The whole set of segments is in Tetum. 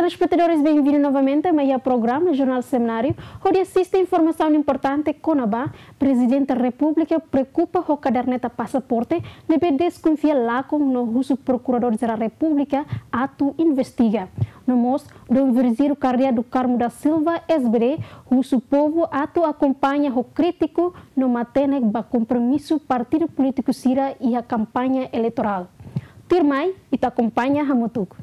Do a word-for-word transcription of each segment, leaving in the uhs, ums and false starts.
Telespetadores, benvindu novamente mai iha programa Jornál Semináriu, hodi asiste informasaun importante kona-ba Prezidente Repúblika preokupa ho kaderneta pasaporte ne'ebé deskonfia lakon no husu Prokuradór Jerál Repúblika atu investiga. No mós, Dom Virgílio Cardeal do Carmo da Silva, S B D, husu povu atu akompaña ho krítiku no matenek ba kompromisu partidu polítiku sira iha kampaña eleitorál. Tuirmai, ita akompaña hamutuk.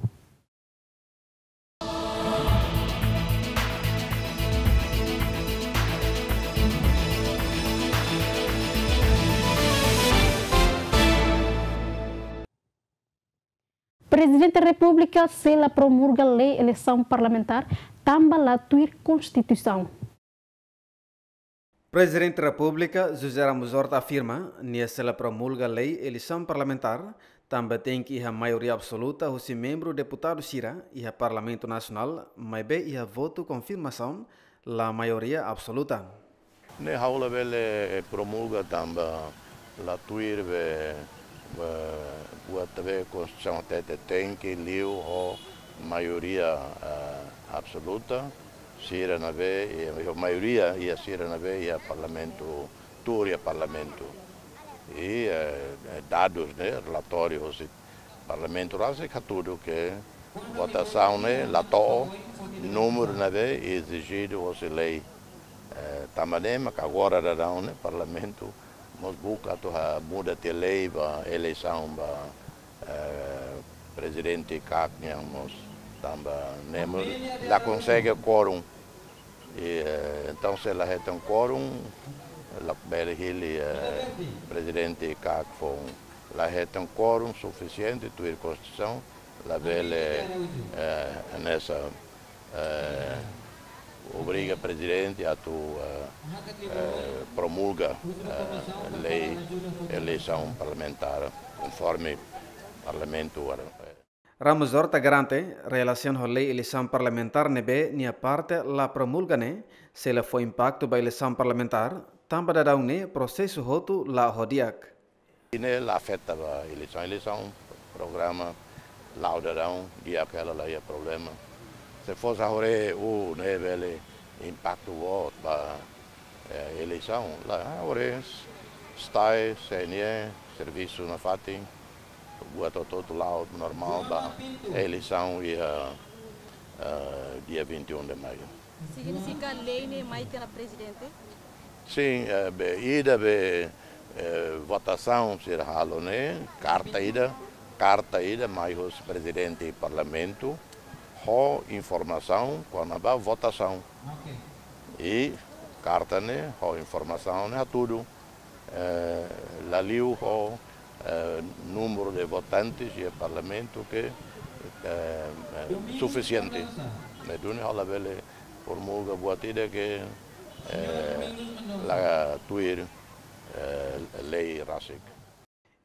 Prezidente Repúblika sei la promulga lei eleisaun parlamentár tanba la tuir Konstituisaun. Prezidente Repúblika, José Ramos Horta afirma, nia sei la promulga lei eleisaun parlamentár, tanba tenke iha maioria absoluta husi membru deputadu sira iha Parlamentu Nasionál, maibé iha votu konfirmasaun la maioria absoluta. Ne'e ha'u labele promulga tanba la tuir be, be, buat be Konstituisaun hatete tenke liu ho maioria, eh, absoluta, sira ne'ebé, eh, maioria iha sira ne'ebé iha Parlamentu, tuur iha Parlamentu. I, eh, eh, dadus ne'e, relatóriu husi Parlamentu rasik hatudu ke votasaun ne'e la to'o númeru ne'ebé ezijidu hosi lei. Eh, tanba ne'e maka agora daudaun ne'e Parlamentu mós buka atu ha-, muda tiha lei ba eleisaun ba, eh, prezidente CAC nian mós, tanba ne'e mós la konsege quórum. I, eh, entaun se la hetan quórum, labele hili, eh, prezidente CAC foun. La hetan quórum sufisiente tuir Konstituisaun, labele, eh, hanesan, eh, obriga prezidente atu, eh, eh, promulga, eh, lei eleisaun parlamentár konforme Parlamentu agora. Ramos Horta garante, relasiona ho lei eleisaun parlamentár ne'ebé nia parte la promulga ne'e, sei la fó impaktu ba eleisaun parlamentár, tanba daudaun ne'e prosesu hotu la'o ho di'ak. I ne'e la afeta ba eleisaun, eleisaun programa la'o daudaun di'ak hela, la iha problema. Se fosse agora, u ne'e bele impaktu boot ba, eh, eleisaun, la, agora STAE, C N E, servisu nafatin, buat hotu-hotu la'o normál ba eleisaun iha, eh, dia vinte e um de maio. Signifika lei ne'e mai tiha ona prezidente? Sin, eh, be, ida be, eh, votasaun sira halo ne'e, karta ida, karta ida mai husi prezidente Parlamentu, ho informasaun kona-ba votasaun. I karta ne'e ho informasaun ne'e hatudu, eh, la liu ho, eh, númeru de votantes iha Parlamentu ke, eh, eh, sufisiente. Ne'e duni ha'u labele promulga buat ida ke, eh, la tuir, eh, lei rasik.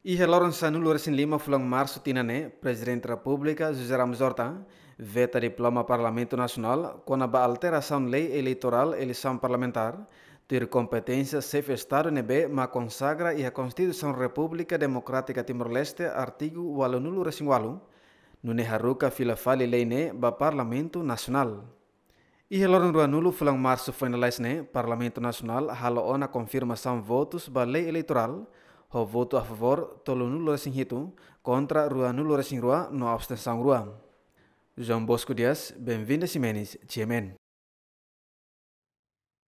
Iha loron sanulu-resin-lima fulan Marsu tinan ne'e, Prezidente Repúblika José Ramos Horta veta diploma Parlamentu Nasionál kona-ba alterasaun lei eleitorál eleisaun parlamentár, tuir kompeténsia xefe Estadu ne'ebé mak konsagra iha Konstituisaun Repúblika Demokrátika Timor-Leste, artigu ualunulu-resin-ualu, nune'e haruka fila fali lei ne'e ba Parlamentu Nasionál. Iha loron ruanulu fulan Marsu foin lalais ne'e, Parlamentu Nasionál halo ona konfirmasaun votus ba lei eleitorál, ho votu a favór tolunulu-resin-hitu, kontra ruanulu-resin-rua no abstensaun rua. João Bosco Dias, Benvinda Ximenes, G M N.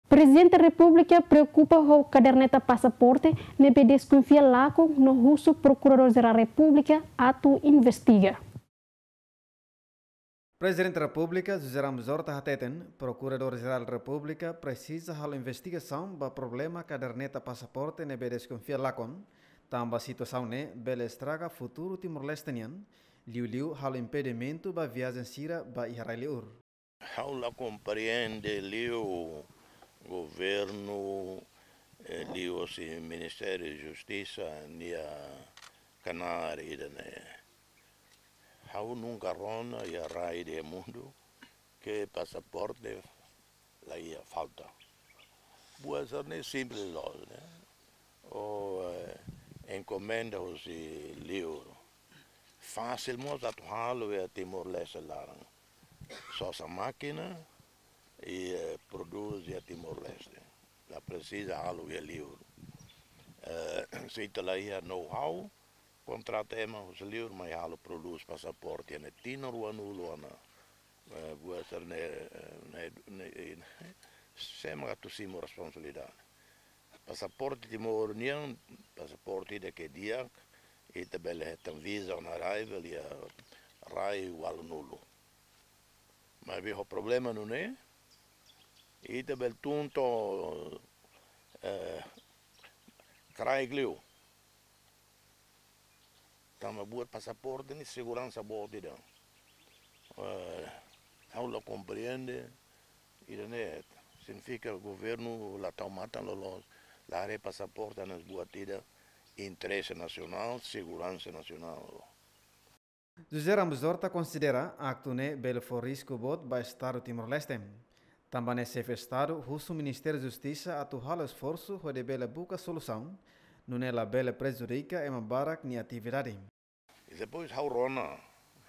Prezidente Repúblika preokupa ho kaderneta pasaporte ne'ebé deskonfia lakon no husu Prokuradór Jerál Repúblika atu investiga. Prezidente Repúblika José Ramos Horta hateten, Prokuradór Jerál Repúblika presiza halo investigasaun ba problema kaderneta pasaporte ne'ebé deskonfia lakon, tanba situasaun ne'e bele estraga futuru Timor-Leste nian, liuliu halo impedimentu ba viajen sira ba iha rai liur. Ha'u la komprende liu governu, eh, liuhosi Ministériu Justisa nia knaar ida-ne'e. Ha'u nunka rona iha rai iha mundu ke pasaporte la iha falta. Buat sira-ne'e simples loos, ne'e. Ou, eh, enkomenda husi liur. Fasil mós atu halo iha Timor-Leste laran. sosa mákina i, eh, prodús iha Timor-Leste. La presiza halo iha liur. Eh, se ita la iha know-how, kontrata ema husi liur mai halo prodús pasaporte iha ne'e tinan ruanulu ona. Eh, buat sira-ne'e, eh, ne'e, ne'e, eh, sé mak atu simu responsabilidade. Pasaporte Timor nian, pasaporte ida ke di'ak, ita bele hetan visa on arrival iha rai ualunulu. Maibé ho problema nune'e, ita bele tun to'o, eh, kraik liu. Tanba buat pasaporte ne'e seguransa boot ida. Eh, ha'u la komprende, ida-ne'e signifika governu la tau matan loloos, la haree pasaporte hanesan buat ida interese nasionál, seguransa nasionál. José Ramos Horta konsidera aktu ne'e bele fó risku boot ba Estadu Timor-Leste. Tanba ne'e xefe Estadu husu Ministériu Justisa atu halo esforsu hodi bele buka solusaun, nune'e labele prejudika ema barak nia atividade. I depois ha'u rona,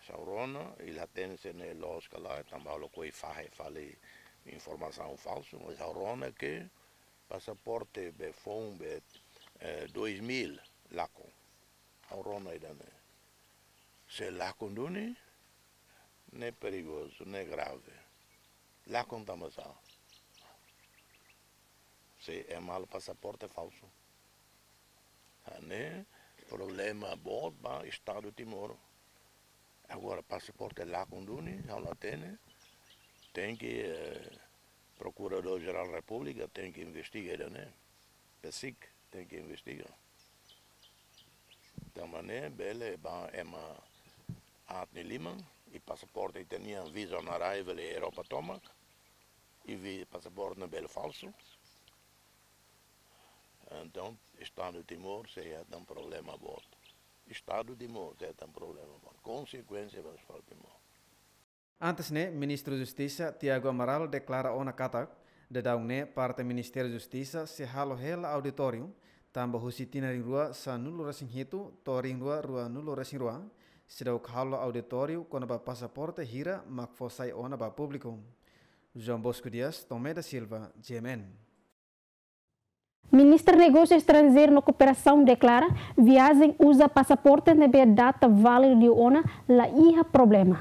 ha'u rona, i la hatene se ne'e loos ka lae, tanba ha'u lakohi fahe fali informasaun falsu, mas ha'u rona ke pasaporte be foun be, eh, dois mil lakon. Ha'u rona ida-ne'e. Se lakon duni, ne'e perigozu, ne'e grave. Lakon tanba sá? Se ema halo pasaporte falsu. Hanesan problema boot ba Estadu Timor. Agora, pasaporte lakon duni, ha'u la hatene, tenke, eh, Prokuradór Jerál Repúblika tenke investiga ida-ne'e. PAICC tenke investiga. Tanba ne'e bele ba ema aat nia liman, i pasaporte ita-nian visa on arrival iha Europa tomak, i vi pasaporte ne'e bele falsu. Entaun, Estadu Timor sei hetan problema boot. Estadu Timor sei hetan problema boot. Konsekuénsia ba Estadu Timor. Antes ne'e, Ministru Justisa Tiago Amaral deklara ona katak, daudaun ne'e parte Ministériu Justisa sei halo hela auditóriu, tanba husi tinan rihun rua sanulu-resin-hitu to'o rihun rua ruanulu-resin-rua, seidauk halo auditóriu kona-ba pasaporte hira mak fó sai ona ba públiku. João Bosco Dias, Tomé da Silva, G M N. Ministra Negósiu Estranjeiru no Kooperasaun deklara, viajen uza pasaporte ne'ebé data válidu liu ona la iha problema.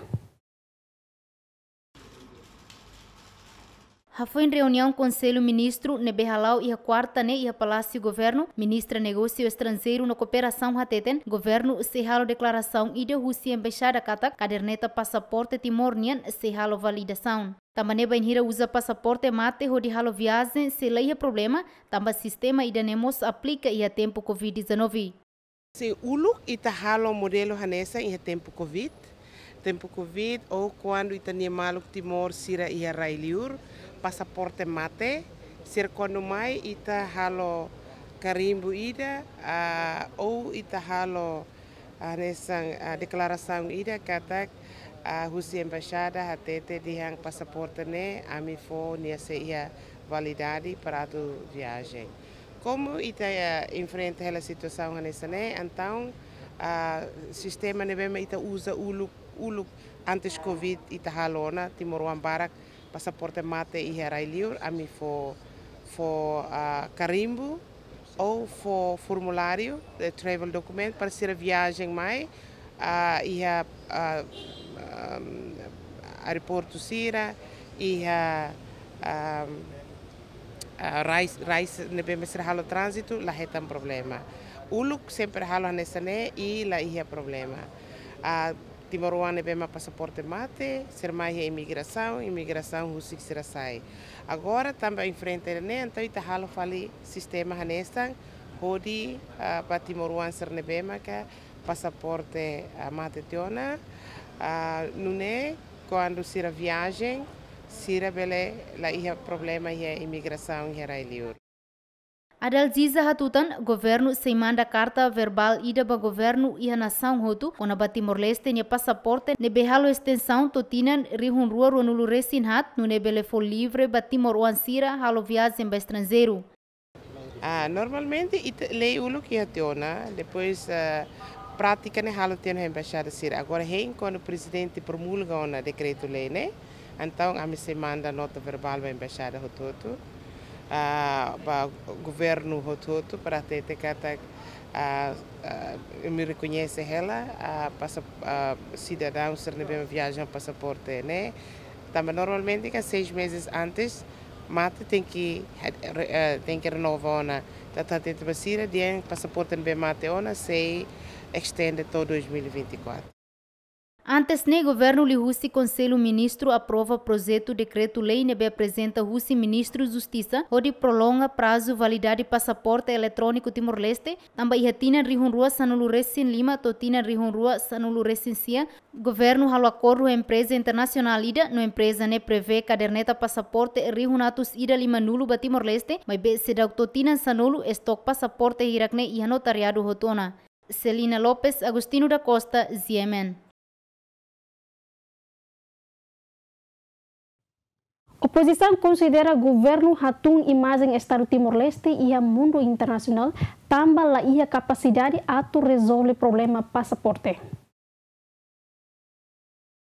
Hafoin reuniaun Konsellu Ministru ne'ebé hala'o iha kuarta ne'e iha Palásiu Governu, Ministra Negósiu Estranjeiru no Kooperasaun hateten, governu sei halo deklarasaun ida husi embaixada katak kaderneta pasaporte Timor nian sei halo validasaun. Tanba ne'e bainhira uza pasaporte mate hodi halo viajen sei la iha problema, tanba sistema ida-ne'e mós aplika iha tempu covid dezanove. Se uluk ita halo modelu hanesan iha tempu covid. Tempu covid, ou kuandu ita-nia maluk Timor sira iha rai liur, pasaporte mate, sira kuandu mai ita halo karimbu ida, ah, ou ita halo hanesan, ah, deklarasaun ida katak, ah, husi embaixada hatete dehan pasaporte ne'e ami fó nia sei iha validade para atu viajen. Komu ita, ah, enfrenta hela situasaun hanesan ne'e, entaun, ah, sistema ne'ebé mak ita uza uluk, uluk antes covid ita halo ona, timoroan barak pasaporte mate iha rai liur, ami fó, fó, ah, karimbu, ou fó formuláriu de travel document para sira viajen mai, ah, iha, ah, ah, aeroportu sira, iha, ah, ah, rai, rai ne'ebé mak sira halo tránzitu, la hetan problema. Uluk sempre halo hanesan ne'e i la iha problema. Ah, timoroan ne'ebé mak pasaporte mate, sira mai iha imigrasaun, imigrasaun husik sira sai. Agora tanba enfrenta ne'e, entaun ita halo fali sistema hanesan, hodi, ah, ba timoroan sira ne'ebé maka pasaporte, ah, mate tiha ona, ah, nune'e kuandu sira viajen, sira bele la iha problema iha imigrasaun iha rai liur. Adalgisa hatutan, governu sei manda karta verbál ida ba governu iha nasaun hotu, kona-ba Timor-Leste nia pasaporte ne'ebé halo estensaun to'o tinan rihun rua ruanulu-resin-haat, nune'e bele fó livre ba timoroan sira halo viajen ba estranjeiru. Ah, normalmente ita lei uluk iha tiha ona, depois, ah, prátika ne'e halo tiha ona iha embaixada sira. Agora hein kuandu prezidente promulga ona dekretu-lei ne'e, Entaun, ami sei manda nota verbál ba embaixada hotu-hotu, ah, ba governu hotu-hotu, para hatete katak, ah, ah, ami rekoñese hela, ah, pasa-, ah, sidadaun sira ne'ebé viaja ho pasaporte ne'e. Tanba normalmente ka seis meses antes, mate tenke, eh, tenke renova ona. Entaun hatete ba sira, dehan pasaporte ne'ebé mate ona sei estende to'o dois mil e vinte e quatro. Antes ne'e, governu liuhusi Konsellu Ministru aprova projetu dekretu-lei ne'ebé aprezenta husi Ministru Justisa hodi prolonga prazu validade pasaporte eletróniku Timor-Leste, tanba iha tinan rihun rua sanulu resin lima to'o tinan rihun rua sanulu resin sia, governu halo akordu ho empreza internasionál ida, no empreza ne'e prevee kaderneta pasaporte rihun atus ida limanulu ba Timor-Leste, maibé seidauk to'o tinan sanulu, estok pasaporte hirak ne'e iha notariadu hotu ona. Celina Lopes, Agostinho da Costa, G M N. Opozisaun konsidera governu hatún imajen Estadu Timor-Leste iha mundu internasionál, tanba la iha kapasidade atu rezolve problema pasaporte.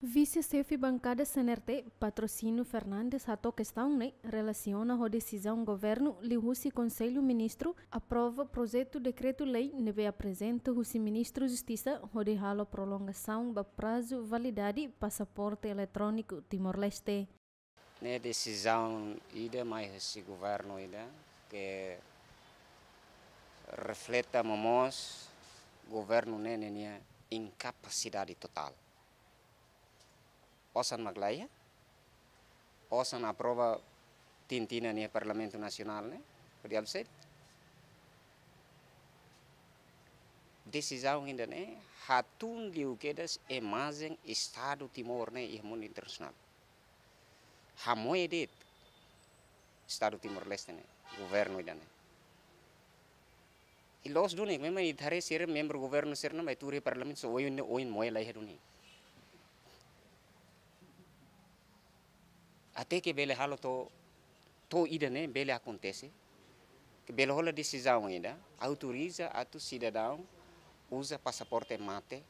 Vise-xefe bankada C N R T, Patrocínio Fernandes, hato'o kestaun ne'e relasiona ho desizaun governu liuhusi Konsellu Ministru aprova projetu dekretu-lei ne'ebé aprezenta husi Ministru Justisa hodi halo prolongasaun ba prazu validade pasaporte eletróniku Timor-Leste. Ne'e desizaun ida mai husi governu ida ke refleta momoos governu ne'e ninia inkapasidade totál. Osan mak la iha, osan aprova tinan-tinan iha Parlamentu Nasionál ne'e, hodi halo saida? Desizaun ida ne'e hatún liu kedas imajen Estadu Timor ne'e iha mundu internasionál. Hamoe de'it Estadu Timor-Leste ne'e, governu ida ne'e. I loos duni, memang ita haree sira membru governu sira-ne'e mai tuur iha Parlamentu, só oin, oin moe la iha duni. Até ke bele halo to'o, to'o ida ne'e bele akontese, ke bele hola desizaun ida, autoriza atu sidadaun uza pasaporte mate,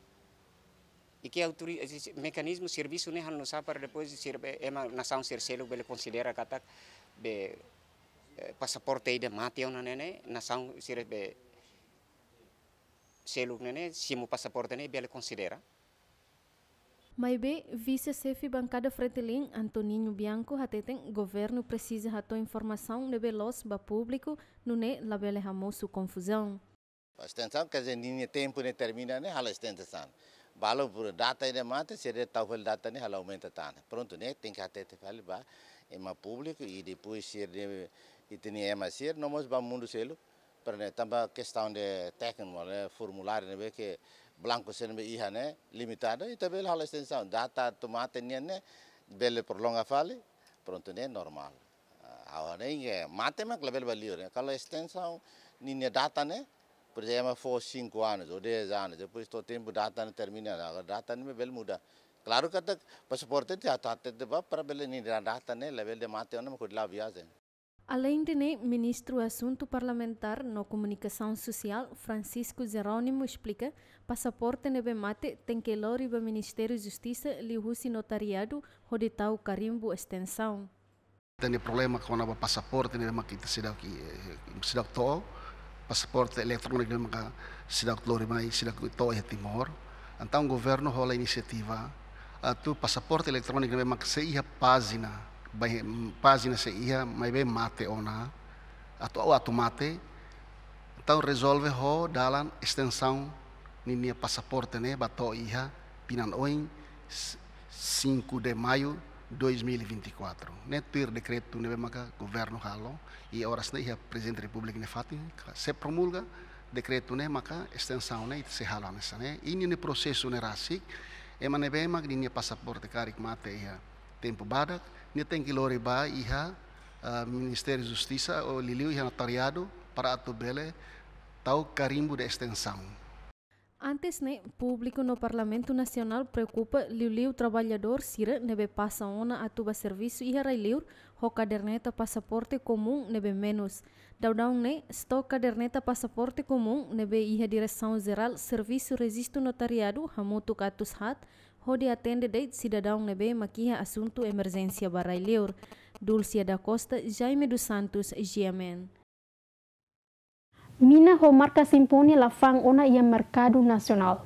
i ke autori-, eh, si-, mekanizmu servisu ne'e halo nu'usá para depois sira be, ema nasaun sira seluk bele konsidera katak be, eh, pasaporte ida mate ona ne'e ne'e, nasaun sira be seluk ne'e ne'e, simu pasaporte ne'e bele konsidera. Maibé, vise-xefe bankada Fretilin, Antoninho Bianco, hateten governu presiza hato'o informasaun ne'ebé loos ba públiku, nune'e labele hamosu konfuzaun. Estensaun, quer dizer, ninia tempu ne'e termina ne'e halo estensaun. Balu por data ida mate, se de tau fali data ne'e halo aumenta tan. Prontu, ne'e tenke hatete fali ba ema públiku i depois sira de, i teni ema sira, no mós ba mundu seluk, para ne'e tanba kestaun de tékniku, ne'e formuláriu ne'ebé ke blanku sira ne'ebé iha ne'e limitadu, ita bele halo estensaun. Data atu mate nian ne'e bele prolonga fali, prontu ne'e normál. Ah, agora ne'e mate mak labele ba liur, ne'e. Kalau estensaun ninia data ne'e, por ezemplu, ema fó cinco anos ou dez anos, depois to'o tempu data ne'e termina, agora data ne'e bele muda. Klaru katak pasaporte ita atu hatete ba para bele ninia data ne'e labele mate ona mak hodi la'o viajen. Aleinde ne'e, Ministru Asuntu Parlamentár no Komunikasaun Sosiál, Francisco Jerónimo, esplika, pasaporte ne'ebé mate tenke lori ba Ministériu Justisa liuhusi notariadu hodi tau karimbu estensaun. Ita-nia problema kona-ba pasaporte ne'ebé mak ita seidauk, eh, seidauk to'o, pasaporte eletróniku ne'ebé mak seidauk lori mai, seidauk to'o iha Timor. Entaun governu hola inisiativa atu pasaporte eletróniku ne'ebé mak sei iha pájina, bai, pájina sei iha, maibé mate ona, atu, atu mate, entaun rezolve ho dalan estensaun ninia pasaporte ne'e ba to'o iha tinan oin, s-, cinco de maio dois mil e vinte e quatro. Ne'e tuir dekretu ne'ebé maka governu halo, i oras ne'e iha Prezidente Repúblika nia fatin, se promulga dekretu ne'e maka estensaun ne'e ita sei halo hanesan ne'e. I ninia prosesu ne'e rasik, ema ne'ebé mak ninia pasaporte karik mate iha tempu badak, nia tenke lori ba iha, ah, Ministériu Justisa ou liuliu iha notariadu para atu bele tau karimbu de estensaun. Antes ne'e, públiku no Parlamentu Nasionál preokupa liuliu traballadór sira ne'ebé pasa ona atu ba servisu iha rai-liur ho kaderneta pasaporte komún ne'ebé menus. Daudaun ne'e, stok kaderneta pasaporte komún ne'ebé iha Diresaun Jerál Servisu Rejistu Notariadu hamutuk atus haat, hodi atende de'it sidadaun ne'ebé mak iha asuntu emerjénsia ba rai-liur. Dulcia da Costa, Jaime dos Santos, G M N. Mina ho marka Symphony la fa'an ona iha merkadu nasionál.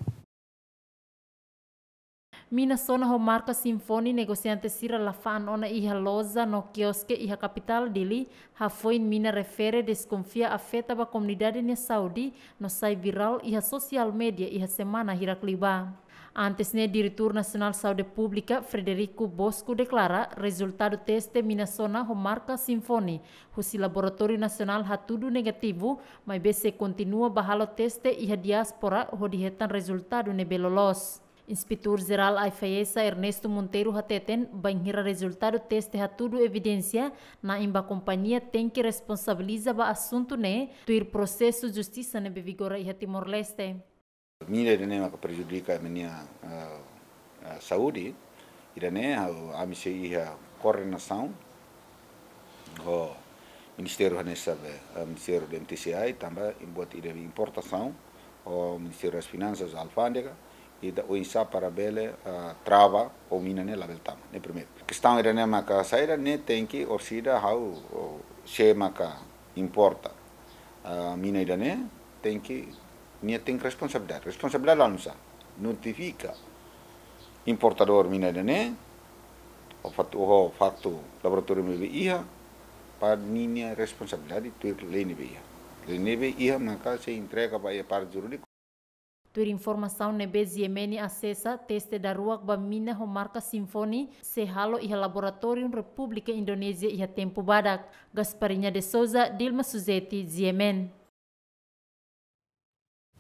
Mina sona ho marka Symphony negosiante sira la fa'an ona iha loja no kioske iha kapitál Dili, hafoin mina refere deskonfia afeta ba komunidade nia saúde no sai virál iha sosiál média iha semana hirak liubá. Antes ne'e, Diretór Nasionál Saúde Públika, Frederico Bosco, deklara rezultadu teste mina sona ho marka Symphony husi Laboratóriu Nasionál hatudu negativu, maibé sei kontinua bá halo teste iha diáspora hodi hetan rezultadu ne'ebé loloos. Inspetór Jerál AIFAESA, Ernesto Monteiro, hateten, bainhira rezultadu teste hatudu evidénsia, na'in ba kompañia tenke responsabiliza ba asuntu ne'e, tuir prosesu justisa ne'ebé vigora iha Timor-Leste. Mina ida-ne'e maka prejudika ema nia, eh, eh, saúde, ida-ne'e, ha'u, ami sei iha koordenasaun ho ministériu hanesan be, eh, Ministériu do M T C I, tanba buat ida be importasaun, ho Ministériu das Finansas, Alfándega, ita oinsá para bele, eh, trava, ho mina ne'e labele tama. Ne'e primeiru. Kestaun ida-ne'e maka saida, ne'e tenke orsida ha'u, o, sé maka importa, ah, mina ida-ne'e, tenke, nia tenke responsabilidade. Responsabilidade la nusá? Notifika importadór mina ida-ne'e, ho faktu, ho faktu laboratóriu ne'ebé iha, para ninia responsabilidade tuir lei ne'ebé iha. Lei ne'ebé iha maka sei entrega ba iha parte jurídika. Tuir informasaun ne'ebé G M N asesa, teste daruak ba mina ho marka Symphony sei halo iha laboratóriu Repúblika Indonézia iha tempu badak. Gasparinha de Souza, Dilma Suzeti, G M N.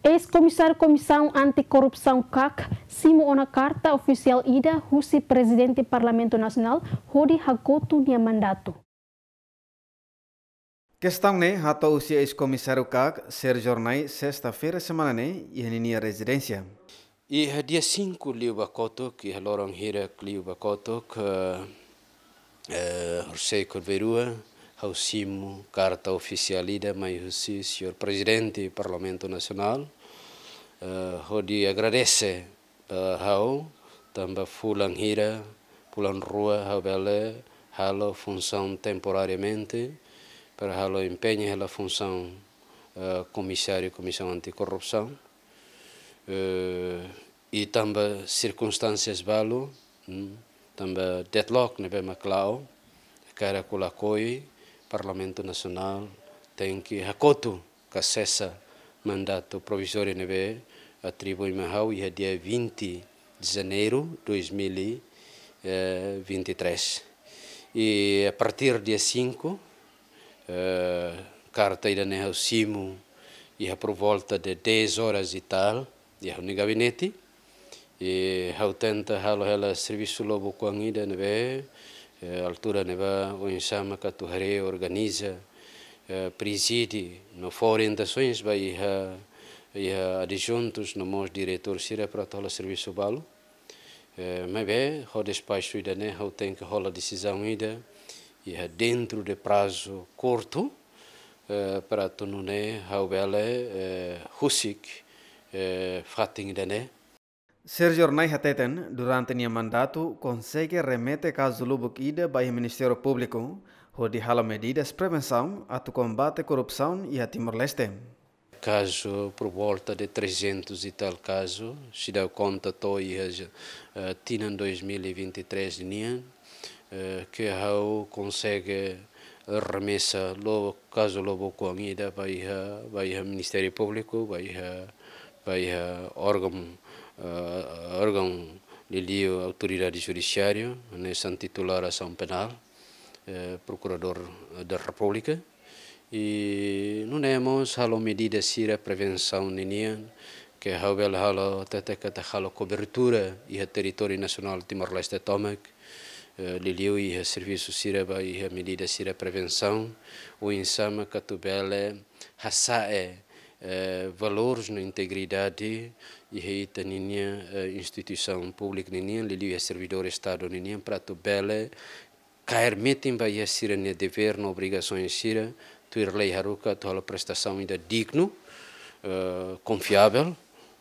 Eis-komisáriu Komisaun Anti-Korrupsaun, KAK, simu ona karta ofisiál ida husi Prezidente Parlamentu Nasionál hodi hakotu nia mandatu. Kestaun ne'e hato'o husi eis-komisáriu KAK, Sérgio Hornai, sesta-feira semana ne'e, iha ninia rezidénsia. Iha dia cinco liubá kotuk, iha loron hirak liubá kotuk, eh, eh, horisehik hotu-nulu-resin-rua, ha'u simu karta ofisiál ida mai husi señór Prezidente Parlamentu Nasionál, eh, hodi agradese, eh, ha'u, tanba fulan hira, fulan rua, ha'u bele halo funsaun temporariamente, para halo empeña hela funsaun, eh, komisáriu Komisaun Anti-Korrupsaun. Eh, i tanba sirkunstánsias balu, mm, tanba deadlock ne'ebé mak la'o, karik lakohi, Parlamentu Nasionál tenke hakotu ka sesa mandatu provizóriu ne'ebé atribui mai ha'u iha dia vinte de janeiro dois mil e vinte e três. I a partir dia cinco, eh, karta ida-ne'e ha'u simu iha por volta de dez horas e tal, iha ha'u-nia gabinete. I ha'u tenta halo hela servisu lubuk oan ida ne'ebé, eh, altura ne'ebá oinsá maka atu haree, organiza, eh, prezide, no fó orientasoens ba iha, iha adjuntus no mós diretór sira para atu halo servisu balu. Eh, maibé, ho despaxu ida-ne'e, ha'u tenke hola desizaun ida, iha dentro de prazu kurtu, eh, para atu nune'e ha'u bele, eh, husik, eh, fatin ida-ne'e. Sérgio Hornai hateten, durante nia mandatu, konsege remete kazu lubuk ida ba iha Ministériu Públiku, hodi halo medidas prevensaun atu kombate korrupsaun iha Timor-Leste. Kazu por volta de trezentos e tal kazu, se dá conta to'o iha, eh, tinan dois mil e vinte e três nian, eh, ke ha'u konsege remesa lo kazu lubuk oan ida ba iha, ba iha Ministériu Públiku, ba iha, ba iha órgaun, eh, órgaun liuliu autoridade judisiária, hanesan titulár asaun penál, eh, Prokuradór da Repúblika. I nune'e mós halo medida sira prevensaun ninian, ke ha'u bele halo, tete kata halo kobertura iha territóriu nasionál Timor-Leste tomak, eh, liuliu iha servisu sira ba iha medida sira prevensaun, oinsá maka atu bele hasa'e, eh, valores no integridade iha ita ninia, eh, instituisaun públika ninian, liuliu iha servidór Estadu ninian, para atu bele kaer metin ba iha sira-nia devér no obrigasaun sira, tuir lei haruka atu halo prestasaun ida dignu, eh, konfiavel,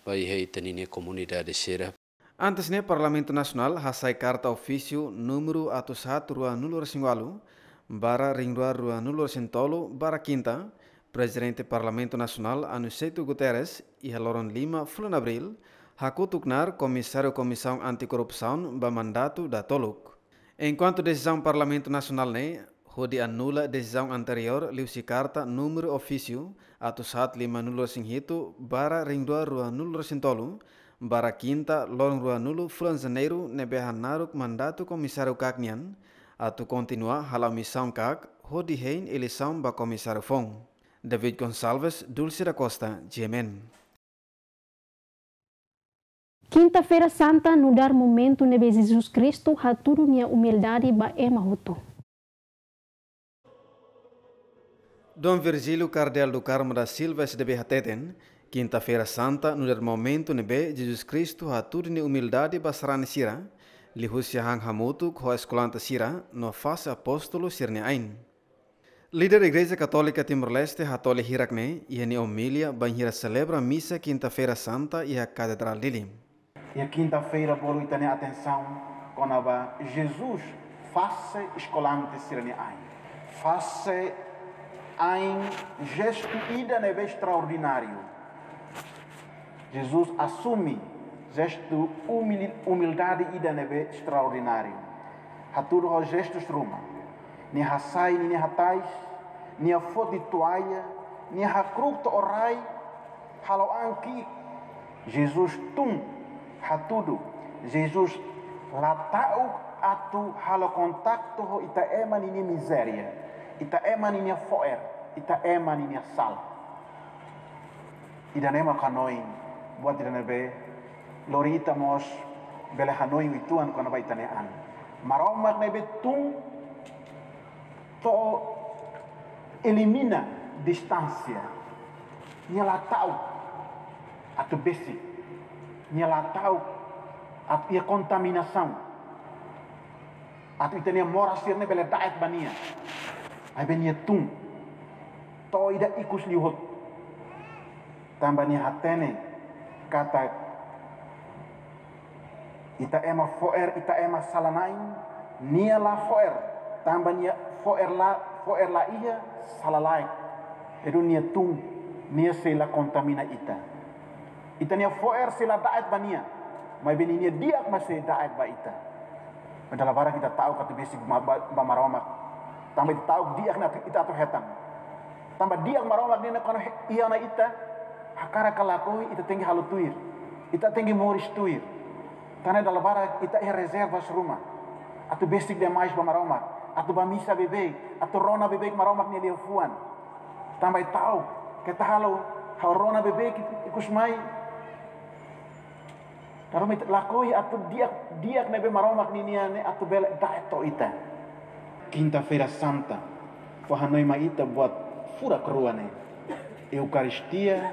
ba iha ita ninia komunidade sira. Antes ne'e, Parlamentu Nasionál hasai karta ofísiu númeru atus haat rua-nulu resin ualu barra rihun rua rua-nulu resin tolu barra kinta, Prezidente Parlamentu Nasionál Aniceto Guterres, iha loron lima fulan Abríl, hakutuk knaar Komisáriu Komisaun Anti-Korrupsaun ba mandatu datoluk. Enkuantu desizaun Parlamentu Nasionál ne'e hodi anula desizaun anteriór liuhusi karta númeru ofísiu atus haat lima-nulu resin hitu barra rihun rua rua-nulu resin tolu barra kinta loron rua-nulu fulan Janeiru ne'ebé hanaruk mandatu Komisáriu KAK nian, atu kontinua hala'o misaun KAK hodi hein eleisaun ba Komisáriu foun. David Gonçalves, Dulce da Costa, G M N. Kinta-feira Santa nu'udar momentu ne'ebé Jesus Kristu hatudu nia umildade ba ema hotu. Dom Virgílio Kardeál do Carmo da Silva, S D B, hateten, Kinta-feira Santa nu'udar momentu ne'ebé Jesus Kristu hatudu nia umildade ba sarani sira, liuhusi han hamutuk ho eskolante sira no fase apóstolu sira-nia ain. Líder Igreja Katólika Timor-Leste hatoli hirak ne'e iha nia omilia bainhira selebra misa Kinta-feira Santa iha Katedrál Dili. Iha kinta-feira bolu ita-nia atensaun kona-ba Jesus fase eskolante sira-nia ain. Fase ain jestu ida ne'ebé estraordináriu. Jesus asume jestu umil-, umildade ida ne'ebé estraordináriu. Hatudu ho jestu ruma. Nia hasai ninia hatais, nia foti toalla, nia hakru'uk to'o rai, halo an ki'ik. Jesus tun, hatudu. Jesus la ta'uk atu halo kontaktu ho ita ema ninia mizéria, ita ema ninia fo'er, ita ema ninia sala. Ida-ne'e mak hanoin buat ida ne'ebé lori ita mós bele hanoin uitoan kona-ba ita-nia an. Maromak ne'ebé tun to'o elimina distánsia. Nia la ta'uk atu besik. Nia la ta'uk atu iha kontaminasaun. Atu ita-nia moras sira-ne'e bele da'et ba nia. Maibé nia tun to'o ida ikus liu hotu. Tanba nia hatene katak ita ema fo'er, ita ema sala-na'in, nia la fo'er. Tanba nia fo'er la, fo'er la iha, sala laek. Edu nia tun, nia sei la kontamina ita. Ita-nia fo'er sei la da'et ba nia. Maibé ninia di'ak mak sei da'et ba ita. Dala barak ita ta'uk atu besik ba, ba, ba Maromak. Tanba ita ta'uk di'ak ne'e atu, ita atu hetan. Tanba di'ak Maromak nian ne'e kuandu he-, iha ona ita, hakarak ka lakohi ita tenke halo tuir. Ita tenke moris tuir. Tan ne'e dala barak ita iha rezerva ruma. Atu besik demais ba Maromak. Atu bá misa beibeik. Atu rona beibeik Maromak nia liafuan. Tanba ita ta'uk, keta halo, ha'u rona beibeik ikus mai. Dala ruma ita lakohi atu di'ak, di'ak ne'ebé Maromak ninia ne'e atu bele da'et to'o ita. Kinta-feira Santa fó hanoin mai ita buat furak rua ne'e. Eukaristia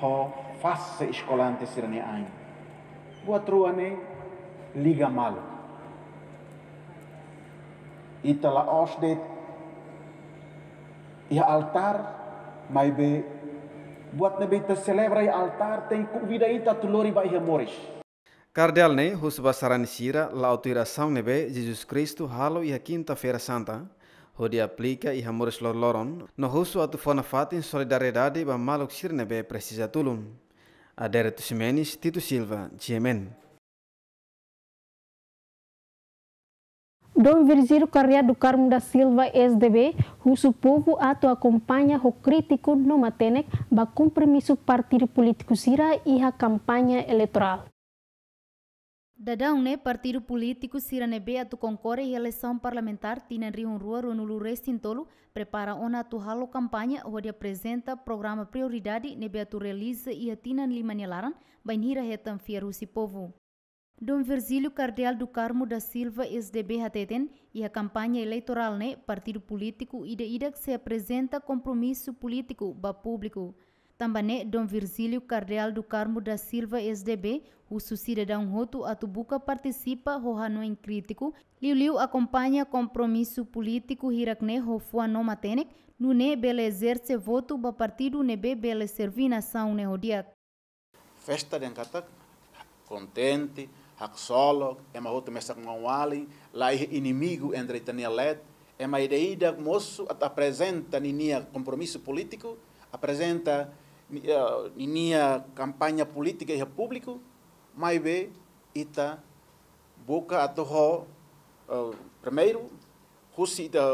ho fase eskolante sira-nia ain. Buat rua ne'e liga malu. Ita la'ós de'it iha altár, maibé buat ne'ebé ita selebra iha altár tenke konvida ita atu lori ba iha moris. Kardeál ne'e husu ba sarani sira la'o tuir asaun ne'ebé Jesus Kristu halo iha Kinta-feira Santa, hodi aplika iha moris loroloron, no husu atu fó nafatin solidariedade ba maluk sira ne'ebé presiza tulun. Adérito Ximenes, Tito Silva, G M N. Dom Virgílio Kardeál do Carmo da Silva, S D B, husu povu atu akompaña ho krítiku no matenek ba kompromisu partidu polítiku sira iha kampaña eleitorál. Daudaun ne'e partidu polítiku sira ne'ebé atu konkorre iha eleisaun parlamentár tinan rihun rua ruanulu resin tolu prepara ona atu halo kampaña hodi aprezenta programa prioridade ne'ebé atu realiza iha tinan lima nia laran bainhira hetan fiar husi povu. Dom Virgílio Kardeál do Carmo da Silva, S D B, hateten, iha kampaña eleitorál ne'e partidu polítiku ida-idak sei aprezenta kompromisu polítiku ba públiku. Tanba ne'e Dom Virgílio Kardeál do Carmo da Silva, S D B, husu sidadaun hotu atu buka partisipa ho hanoin krítiku, liuliu akompaña kompromisu polítiku hirak ne'e ho fuan no matenek, nune'e bele ezerse votu ba partidu ne'ebé bele serví nasaun ne'e ho di'ak. Festa dehan katak Kontente, haksolok, ema hotu mesak maun-alin, la iha inimigu entre ita-nia leet, ema ida-idak mosu atu aprezenta ninia kompromisu polítiku, aprezenta ni-, eh, ninia kampaña polítika iha públiku, maibé ita buka atu ho, eh, primeiru, husi ita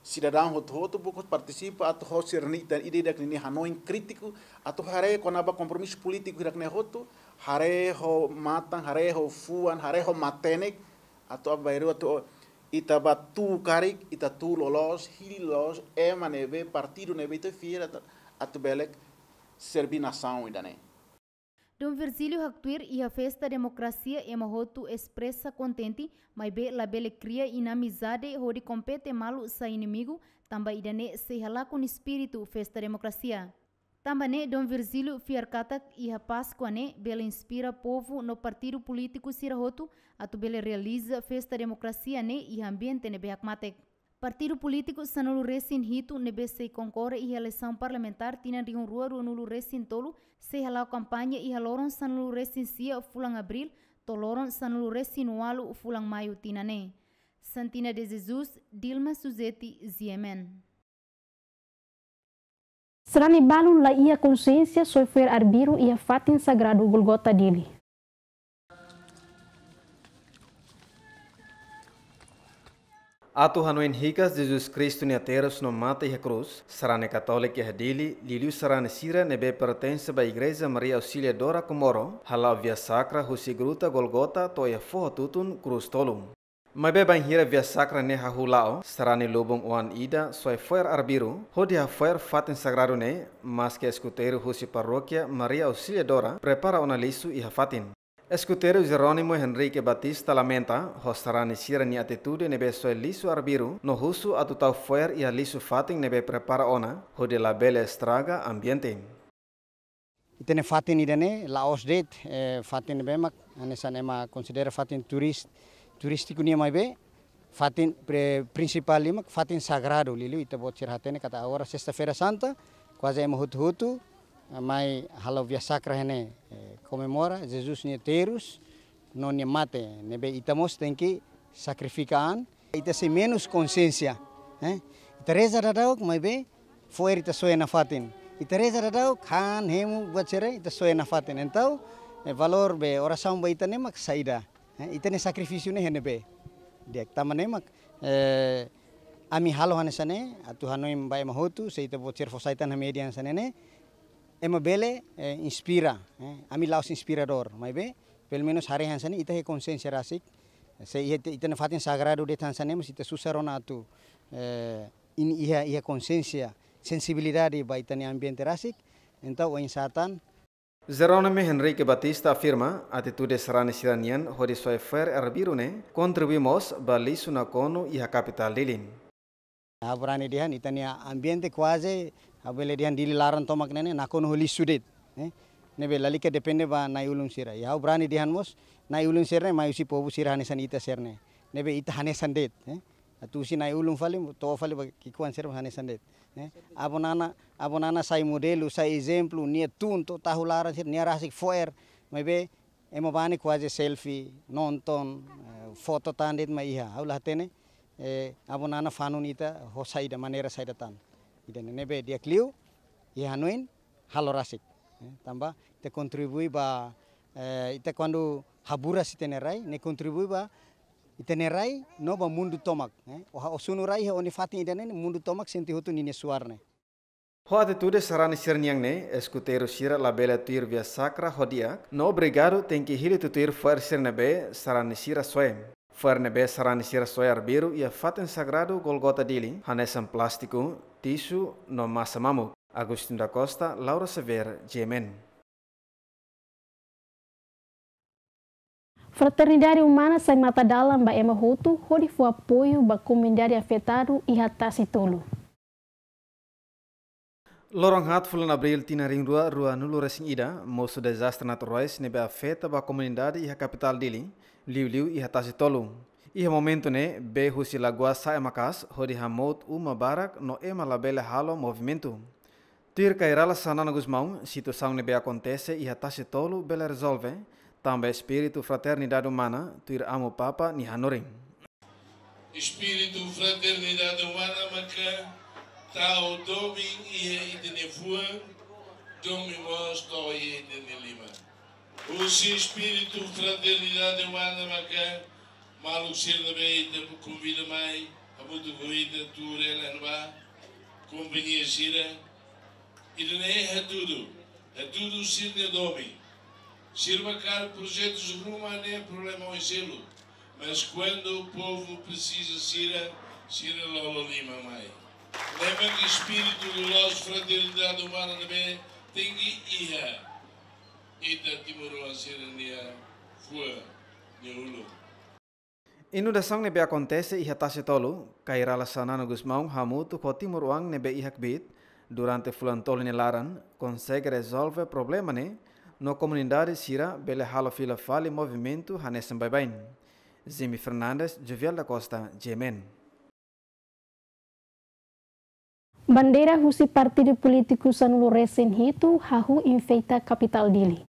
sidadaun hotu-hotu buka partisipa atu ho sira-nia ita ida-idak ninia hanoin krítiku, atu haree kona-ba kompromisu polítiku hirak-ne'e hotu, haree ho matan, haree ho fuan, haree ho matenek, atu aban-bainrua atu ita bá tuur karik, ita tuur loloos, hili loloos, ema ne'ebé, partidu ne'ebé ita fiar atu, atu bele serbí nasaun ida-ne'e. Dom Virgílio haktuir iha festa demokrasia ema hotu espresa kontente, maibé labele kria inamizade hodi kompete malu sai inimigu, tanba ida-ne'e sei halakon espíritu festa demokrasia. Tanba ne'e Dom Virgílio fiar katak iha Páskua ne'e bele inspira povu no partidu polítiku sira hotu atu bele realiza festa demokrasia ne'e iha ambiente ne'ebé hakmatek. Partidu polítiku sanulu-resin-hitu ne'ebé sei konkorre iha eleisaun parlamentár tinan rihun rua ruanulu-resin-tolu sei hala'o kampaña iha loron sanulu-resin-sia fulan Abríl to'o loron sanulu-resin-ualu fulan Maiu tinan ne'e. Santina de Jesus, Dilma Suzeti, G M N. Sarani balun la iha konsiénsia soe fo'er arbiru iha fatin sagradu Golgota Dili. Atu hanoin hikas Jesus Kristu nia terus no mate iha krús, sarani katólika iha Dili, liuliu sarani sira ne'ebé pertense ba Igreja Maria Auxiliadora Comoro, hala'o via sakra husi gruta Golgota to'o iha foho tutun krús tolu. Maibé bainhira via sakra ne'e hahú la'o, sarani lubun oan ida soe fo'er arbiru, hodi hafo'er fatin sagradu ne'e, maske eskuteiru husi parókia Maria Auxiliadora prepara ona lixu iha fatin. Eskuteiru Jerónimo Henrique Batista lamenta ho sarani sira-nia atitude ne'ebé soe lixu arbiru, no husu atu tau fo'er iha lixu fatin ne'ebé prepara ona, hodi labele estraga ambiente. Ita-nia fatin ida-ne'e la'ós de'it, eh, fatin ne'ebé mak hanesan ema konsidera fatin turis-, turístiku nian, maibé fatin pre-, prinsipál liu mak fatin sagradu, liuliu ita-boot sira hatene katak agora Sesta-feira Santa, kuaze ema hotu-hotu, eh, mai halo via sakra iha ne'e, eh, komemora Jesus nia terus no nia mate, ne'ebé ita mós tenke sakrifika an. Ita sei menus konsiénsia, eh? Ita reza daudauk, maibé fo'er ita soe nafatin. Ita reza daudauk, han, hemu, buat sira, ita soe nafatin. Entaun, eh, valór be orasaun ba ita ne'e mak saida, eh? Ita-nia sakrifísiu ne'e iha ne'ebé? Di'ak, tanba ne'e mak, eh, ami halo hanesan ne'e, atu hanoin ba ema hotu, se ita-boot sira fó sai tan iha média hanesan ne'e, ema bele, eh, inspira, eh? Ami la'ós inspiradór, maibé pelumenus haree hanesan ne'e ita iha konsiénsia rasik. Se iha ita, ita-nia fatin sagradu de'it hanesan ne'e, mas ita susar ona atu, eh, iha, iha konsiénsia, sensibilidade ba ita-nia ambiente rasik. Entaun, oinsá tan. Jerónimo Henrique Batista afirma, atitude sarani sira-nian hodi soe fo'er arbiru ne'e kontribui mós ba lixu nakonu iha kapitál Dili. Ha'u brani dehan ita-nia ambiente kuaze, ha'u bele dehan Dili laran tomak ne'e ne'e nakonu ho lixu de'it, eh? Ne'ebé lalika depende ba na'i-ulun sira. I ha'u brani dehan mós, na'i-ulun sira ne'e mai husi povu sira hanesan ita sira-ne'e. Ne'ebé ita hanesan de'it, eh? Atu husi na'i-ulun fali, to'o fali ba ki'ikoan sira hanesan de'it, eh? Avó Nana, Avó Nana sai modelu, sai ezemplu, nia tun to'o tahu laran sira, nia rasik fo'er, maibé ema bá ne'e kuaze selfie, nonton, eh, foto tan de'it mak iha. Ha'u la hatene, eh, Avó Nana fanun ita ho saida, maneira saida tan. Ida-ne'e ne'ebé di'ak liu, iha hanoin, halo rasik. Eh, tanba, ita kontribui ba, eh, ita kuandu haburas ita-nia rai, ne'e kontribui ba ita-nia rai, no ba mundu tomak, eh. Ó, ó sunu rai iha ó-nia fatin ida-ne'e, mundu tomak sente hotu ninia suar ne'e. Ho atitude sarani sira-nian ne'e, eskuteiru sira labele tuir via sakra ho di'ak, no obrigadu tenke hili tutuir fo'er sira ne'ebé sarani sira soe. Fo'er ne'ebé sarani sira soe arbiru iha fatin sagradu Golgota Dili, hanesan plástiku, tisu, no masa mamuk. Agostinho da Costa, Laura Xavier, G M N. Fraternidade Umana sai matadalan ba ema hotu hodi fó apoiu ba komunidade afetadu iha Tasi Tolu. Loron haat fulan Abríl tinan rihun rua ruanulu-resin-ida, mosu dezastre naturais ne'ebé afeta ba komunidade iha kapitál Dili, liuliu iha Tasi Tolu. Iha momentu ne'e, bee husi lagoa sa'e maka'as, hodi hamout uma barak no ema labele halo movimentu. Tuir Kay Rala Xanana Gusmão, situasaun ne'ebé akontese iha Tasi Tolu bele rezolve, Tanba espíritu fraternidade umana, tuir Amu Papa nia hanorin. Espíritu fraternidade umana maka tau domin iha ita-nia fuan, domin mós to'o iha ita-nia liman. Husi espíritu fraternidade umana maka maluk sira ne'ebé ita konvida mai hamutuk ho ita tuur hela iha ne'ebá, kompañia sira, ida-ne'e hatudu, hatudu sira-nia domin. Sira barak projetu ruma ne'e problema oin seluk. Mas kuandu povu presiza sira, sira lolo liman mai. Ne'e mak espíritu loloos fraternidade umana ne'ebé tenke iha ita timoroan sira-nia fuan, nia ulun. Inundasaun ne'ebé akontese iha Tasitolu, Kay Rala Xanana Gusmão hamutuk ho timoroan ne'ebé iha kbiit durante fulan tolu nia laran, konsege rezolve problema ne'e, no komunidade sira bele halo fila fali movimentu hanesan baibain. Jimmy Fernandes, Jovial da Costa, G M N. Bandeira husi partidu polítiku sanulu-resin-hitu hahú enfeita kapitál Dili.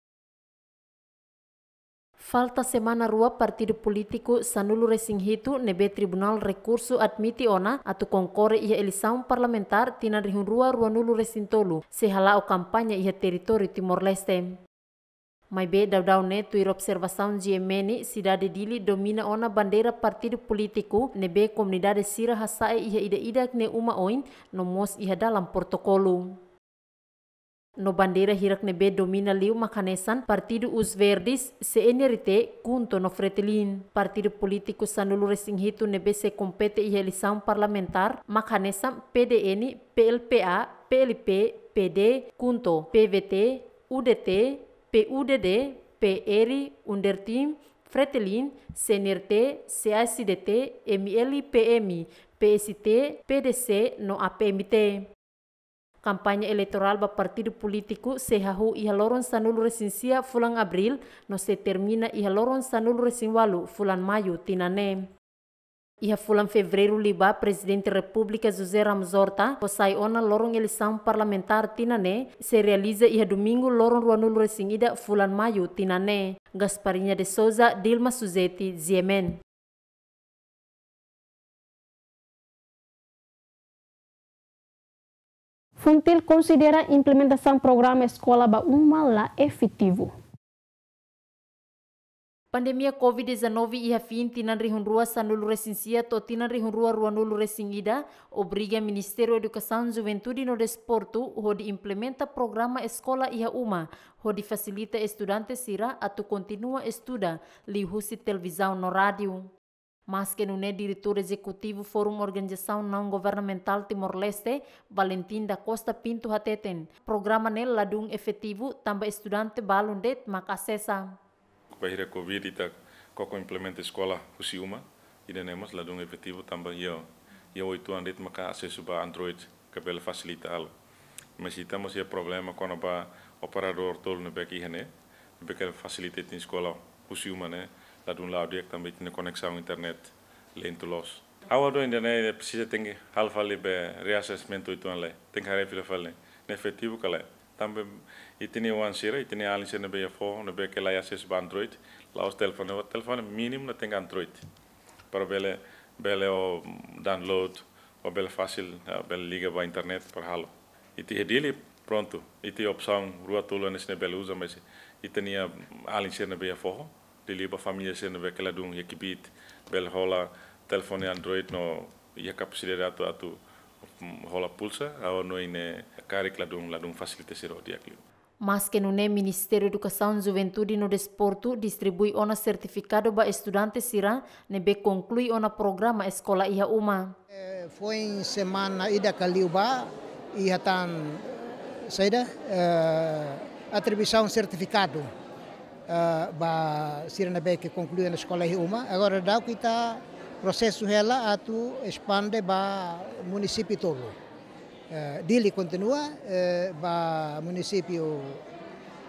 Falta semana rua partidu polítiku sanulu-resin-hitu ne'ebé Tribunál Rekursu admite ona atu konkorre iha eleisaun parlamentár tinan rihun rua ruanulu-resin-tolu sei hala'o kampaña iha territóriu Timor-Leste. Maibé daudaun ne'e tuir observasaun G M N, sidade Dili domina ona bandeira partidu polítiku ne'ebé komunidade sira hasa'e iha ida-idak nia uma oin no mós iha dalan protokolu. No bandeira hirak ne'ebé domina liu mak hanesan partidu Os Verdes, C N R T, KHUNTO no Fretilin. Partidu polítiku sanulu-resin-hitu ne'ebé sei kompete iha eleisaun parlamentár mak hanesan P D N, P L P A, P L P, P D, KHUNTO, P V T, U D T, P U D D, P R, UNDERTIM, Fretilin, C N R T, C A S D T, M L P M, P S T, P D C no A P M T. Kampaña eleitorál ba partidu polítiku sei hahú iha loron sanulu-resin-sia fulan Abríl no sei termina iha loron sanulu-resin-ualu fulan Maiu tinan ne'e. Iha fulan Fevereiru liubá, Prezidente Repúblika José Ramos Horta fó sai ona loron eleisaun parlamentár tinan ne'e sei realiza iha Domingu loron ruanulu-resin-ida fulan Maiu tinan ne'e. Gasparinha de Souza, Dilma Suzeti, G M N. FUNTIL konsidera implementasaun programa eskola ba uma la efetivu. Pandemia covid dezanove iha fin tinan rihun rua sanulu-resin-sia to'o tinan rihun rua ruanulu-resin-ida obriga Ministériu Edukasaun, Juventude no Desportu hodi implementa programa eskola iha uma, hodi fasilita estudante sira atu kontinua estuda, liuhusi televizaun no rádiu. Maske nune'e, Diretór Ezekutivu Fórum Organizasaun Naun Governamentál Timor-Leste, Valentim da Costa Pinto hateten, programa ne'e ladún efetivu tanba estudante balun de'it mak asesa. Bainhira covid ita koko implementa eskola husi uma, ida-ne'e mós ladún efetivu tanba iha, iha oituan de'it maka asesu ba Android, ka bele fasilita halo. Mas ita mós iha problema kona-ba operadór tolu ne'ebé ke iha ne'e, ne'ebé ke fasilita ita-nia eskola husi uma ne'e, ladún la'o di'ak tanba ita-nia koneksaun internet lentu loos. Ha'u hanoin ida-ne'e presiza tenke halo fali be reassessment oituan lai, tenke haree fila fali. Ne'e efetivu ka lae? Tanba ita-nia oan sira, ita-nia alin sira ne'ebé iha foho, ne'ebé ke la iha asesu ba Android, la'ós telefone, telefone mínimu ne'e tenke Android. Para bele, bele ó download, ó bele fasil, ah, bele liga ba internet para halo. Ita iha Dili, prontu. Ita iha opsaun rua tolu hanesan ne'e bele uza, mas ita-nia alin sira ne'ebé iha foho, liuliu ba família sira ne'ebé ke ladún iha kbiit, bele hola telefone Android no iha kapasidade atu, atu, mm, hola pulsa, ha'u hanoin ne'e karik ladún, ladún fasilita sira ho di'ak liu. Maske nune'e, Ministériu Edukasaun, Juventude no Desportu distribui ona sertifikadu ba estudante sira ne'ebé konklui ona programa eskola iha uma. Eh, foin semana ida ka liubá, iha tan, eh, saida, eh, atribuisaun sertifikadu, eh, ba sira ne'ebé ke konklui ona eskola iha uma. Agora daudaun ita prosesu hela atu espande ba munisípiu tolu. Eh, Dili kontinua, eh, ba munisípiu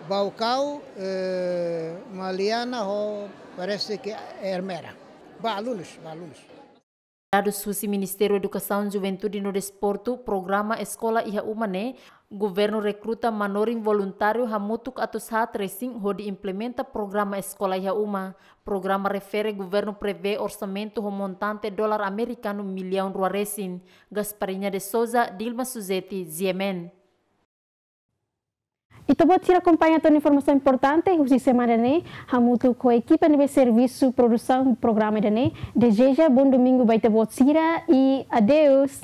Baucau, eh, Maliana ho parese ke Ermera. Ba alunus, ba alunus. Dadus husi Ministériu Edukasaun, Juventude no Desportu, programa Eskola Iha Uma ne'e, governu rekruta manorin voluntáriu hamutuk atus haat resin hodi implementa programa Eskola Iha Uma. Programa refere governu prevee orsamentu ho montante dolar amerikanu millaun rua resin. Gasparinha de Souza, Dilma Suzeti, G M N. Ita-boot sira akompaña to'o informasaun importante husi semana ne'e, hamutuk ho ekipa ne'ebé servisu produsaun programa ida-ne'e, dezeja bom domingu ba ita-boot sira i adeus.